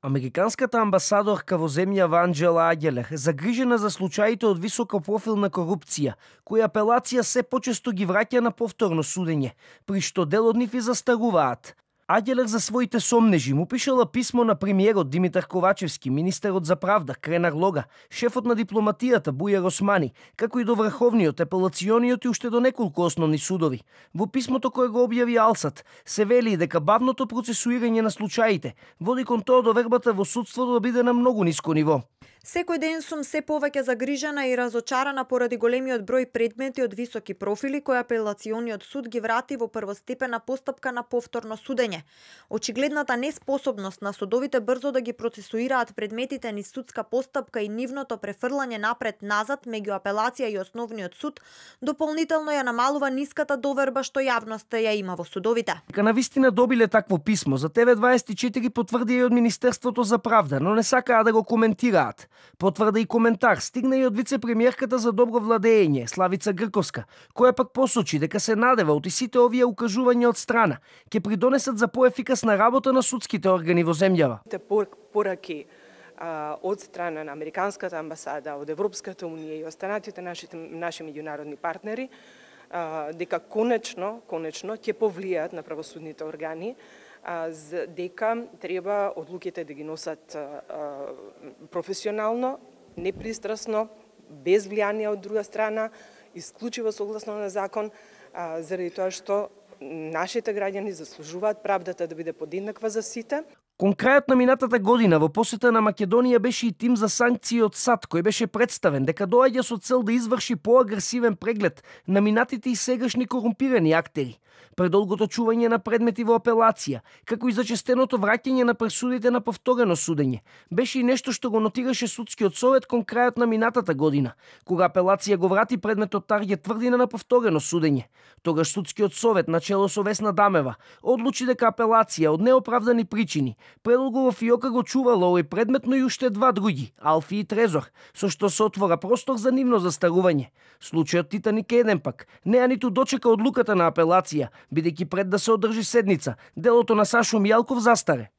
Американската амбасадорка во земјава Анџела Агелер, загрижена за случаите од високопрофилна корупција, кои апелација се почесто ги враќа на повторно судење, при што дел од нив и застаруваат. Агелер за своите сомнежи му пишала писмо на премиерот Димитар Ковачевски, министерот за правда Кренар Лога, шефот на дипломатијата Бујар Османи, како и до Врховниот, апелациониот и уште до неколку основни судови. Во писмото кое го објави Алсат се вели дека бавното процесуирање на случаите води кон тоа довербата во судството да биде на многу ниско ниво. Секој ден сум се повеќе загрижена и разочарана поради големиот број предмети од високи профили кои апелациониот суд ги врати во првостепена постапка на повторно судење. Очигледната неспособност на судовите брзо да ги процесуираат предметите низ судска постапка и нивното префрлање напред-назад меѓу апелација и основниот суд дополнително ја намалува ниската доверба што јавноста ја има во судовите. Дека навистина добиле такво писмо, за ТВ24 потврди и од Министерството за правда, но не сакаа да го коментираат. Потврда и коментар стигна и од вице-премиерката за добро владење Славица Грковска, која пак посочи дека се надева од сите овие укажувања од страна ќе придонесат за поефикасна работа на судските органи во земјава. Пораки од страна на Американската амбасада, од Европската унија и останатите наши меѓународни партнери, дека конечно ќе повлијаат на правосудните органи, дека треба одлуките да ги носат професионално, непристрасно, без влијание од друга страна, исклучиво согласно на закон, заради тоа што нашите граѓани заслужуваат правдата да биде подеднаква за сите. Кон крајот на минатата година во посета на Македонија беше и тим за санкции од САД, кој беше представен дека доаѓа со цел да изврши поагресивен преглед на минатите и сегашни корумпирани актери, предолгото чување на предмети во апелација, како и зачестеното враќање на пресудите на повторено судење. Беше и нешто што го нотираше судскиот совет кон крајот на минатата година, кога апелација го врати предметот Таргет тврдина на повторено судење. Тогаш судскиот совет на чело со Весна Дамева одлучи дека апелација од неоправдани причини предолго во фиока го чувала овој предмет, но и уште два други, Алфи и Трезор, со што се отвора простор за нивно застарување. Случајот Титаник еден пак неа ниту дочека одлуката на апелација, бидејќи пред да се одржи седница, делото на Сашо Мијалков застаре.